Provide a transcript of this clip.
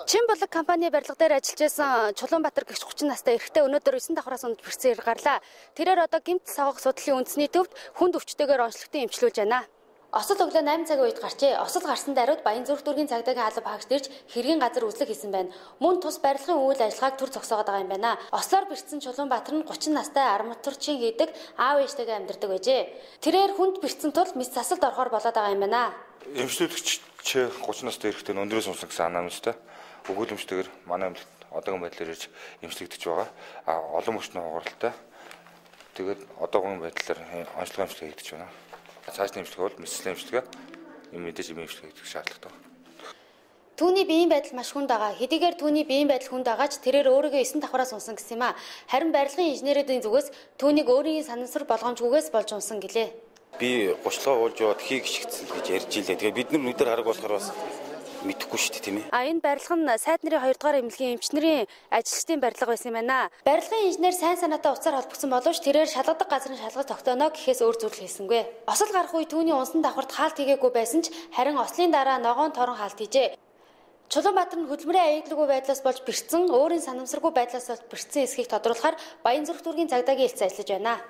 Чинбулаг компани барилга дээр ажиллаж байсан Чулуунбаатар гэгч 30 настай эрэгтэй өнөөдөр 9 давхраас унд бэрцээр гарлаа. Тэрээр одоо гэмт савгах судлалын үндэсний төвд хүнд өвчтэйгээр онцлогтой эмчилүүлж байна. Осол өглөө 8 цагийн үед гарчээ. Осол гарсан даруйд Баянзүрх дүүргийн цагдаагийн алба хаагч дэрж хэргийн газар үзлэг хийсэн байна. Мөн тус барилгын үйл ажиллагааг төр зогсоогоод байгаа юм байна. Ослоор бэрцсэн Чулуунбаатар нь 30 настай арматурчин хийдэг аав ээжтэйгээ амьдардаг байжээ. Тэрээр хүнд бэрцсэн тул мэс засалд орохоор болоод байгаа юм байна. Эмчлүүлэгч 30 настай эрэгтэй өндрөөс унсан гэсэн анамжтай өгүүлэмжтэйгээр манай эмнэлэгт одоогийн байдлаар ирж эмчлэгдэж байгаа. Олон мөчний хугаралтай. Тэгээд одоогийн байдлаар онцлог эмчилгээ хийгдэж байна. Цаашны эмчилгээ бол мэслийн эмчилгээ, мэдээж эмчилгээ хийх шаардлагатай. Түүний биеийн байдал маш хүнд байгаа. Хэдийгээр түүний биеийн байдал хүнд байгаач тэрээр өөрийгөө 9 давхраас унсан гэсэн юм а. Харин барилгын инженерийн зүгээс түүнийг өөрийн санамсар болгоомжгүйгээс болж унсан гэлээ. Би 30-лоо уулж яваад хий гიშгцэн гэж ярьж илээ. Тэгээ бид нар нүдээр хараг болохоор бас мэдэхгүй шүү дээ, тийм ээ. Энэ барилга нь сайд нарын 2 дугаар эмнэлгийн эмч нарын ажилчдын барилга байсан юм байна. Барилгын инженер сайн санаатай уцаар холбогдсон боловч тэрээр шалгадаг газрын шалгалт тогтооно гэхээс өөр зүйл хийсэнгүй. Осол гарах үе түүний унсан давхарт хаалт хийгээгүй байсан ч харин ослын дараа ногоон торон хаалт хийжээ. Чулуунбаатар нь хөдөлмөрийн аюулгүй байдлаас болж бэрцсэн, өөрийн санамсаргүй байдлаас болж бэрцсэн эсхийг тодруулахаар Баянзүрх дүүргийн цагдаагийн хэлц ажиллаж байна.